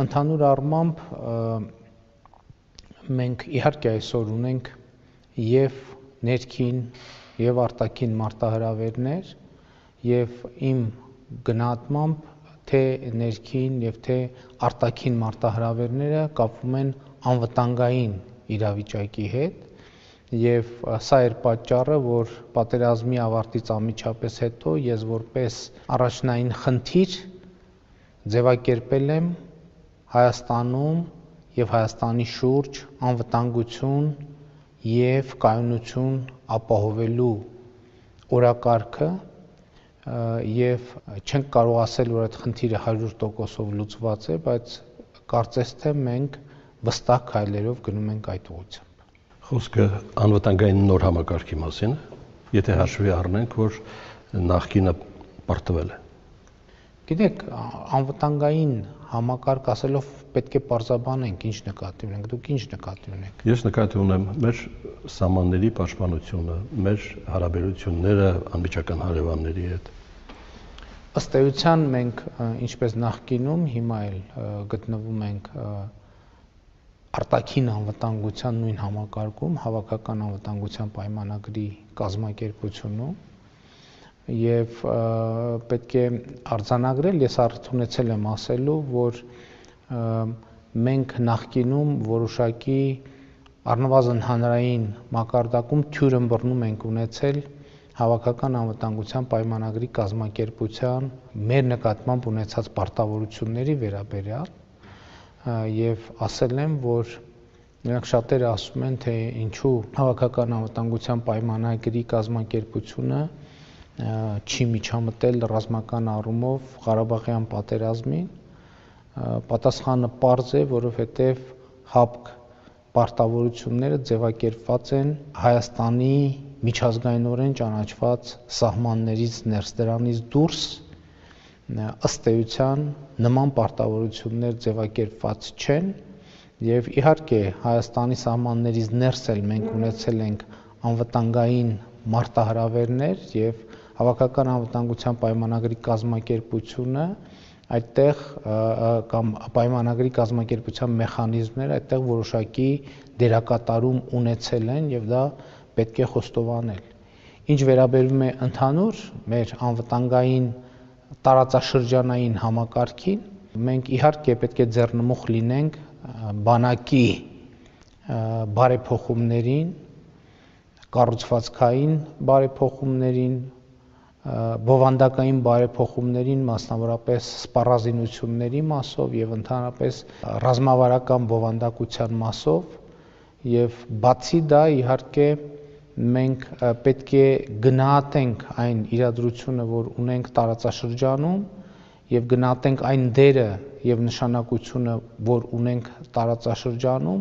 Ընդհանուր առմամբ մենք իհարկե այսօր ունենք եւ ներքին եւ արտաքին մարտահրավերներ եւ իմ գնահատմամբ թե ներքին եւ թե արտաքին մարտահրավերները կապվում են անվտանգային իրավիճակի հետ եւ սա էր պատճառը, որ պատերազմի ավարտից անմիջապես հետո ես որպես առաջնային խնդիր ձևակերպել եմ Հայաստանում եւ Հայաստանի շուրջ անվտանգություն եւ կայունություն ապահովելու օրակարգը եւ չենք կարող ասել, որ այդ խնդիրը 100%-ով լուծված է, բայց կարծես թե մենք վստահ քայլերով գնում ենք այդ ուղղությամբ։ Խոսքը անվտանգային նոր համակարգի մասին է, եթե հաշվի առնենք, որ նախկինը պարտվել է։ Գիտեք, անվտանգային համակարգ ասելով պետք է պարզաբանենք ինչ նկատի ունենք, դուք ինչ նկատի ունեք։ Ես նկատի ունեմ մեր սահմանների պաշտպանությունը, մեր հարաբերությունները անմիջական հարևանների հետ։ Ըստ էության մենք ինչպես նախկինում հիմա էլ գտնվում ենք արտաքին անվտանգության նույն համակարգում, հավաքական անվտանգության պայմանագրի կազմակերպությունում եւ պետք է արձանագրել, ես առիթ ունեցել եմ ասելու, որ մենք նախկինում որոշակի առնվազն հանրային մակարդակում թյուր ըմբռնում ենք ունեցել հավաքական անվտանգության պայմանագրի կազմակերպության մեր նկատմամբ ունեցած պարտավորությունների վերաբերյալ եւ ասել եմ, որ նրանք շատերը ասում են, թե ինչու հավաքական անվտանգության պայմանագրի կազմակերպությունը չի միջամտել ռազմական առումով Ղարաբաղյան պատերազմին, պատասխանը պարզ է, որովհետև ՀԱՊԿ պարտավորությունները ձևակերպված են Հայաստանի միջազգայինորեն ճանաչված սահմաններից ներս, դրանից դուրս ըստ էության նման պարտավորություններ ձևակերպված չեն եւ իհարկե Հայաստանի սահմաններից ներս էլ մենք ունեցել ենք անվտանգային մարտահրավերներ եւ հավաքական անվտանգության պայմանագրի կազմակերպությունը այդտեղ կամ պայմանագրի կազմակերպության մեխանիզմները այդտեղ որոշակի դերակատարում ունեցել են եւ դա պետք է խոստովանել։ Ինչ վերաբերում է ընդհանուր մեր անվտանգային տարածաշրջանային համակարգին, մենք իհարկե պետք է ձեռնմուխ լինենք բանակի բարեփոխումներին, կառուցվածքային բարեփոխումներին, բովանդակային բարեփոխումներին, մասնավորապես սպառազինությունների մասով եւ ընդհանրապես ռազմավարական բովանդակության մասով եւ բացի դա իհարկե մենք պետք է գնահատենք այն իրադրությունը, որ ունենք տարածաշրջանում եւ գնահատենք այն դերը եւ նշանակությունը, որ ունենք տարածաշրջանում,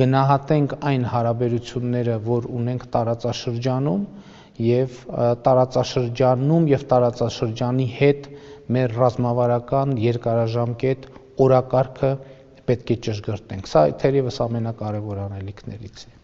գնահատենք այն հարաբերությունները, որ ունենք տարածաշրջանում եւ տարածաշրջանում եւ տարածաշրջանի հետ մեր ռազմավարական երկարաժամկետ օրակարգը պետք է ճշգրտենք։ Սա թերևս ամենակարևոր անելիքներից է։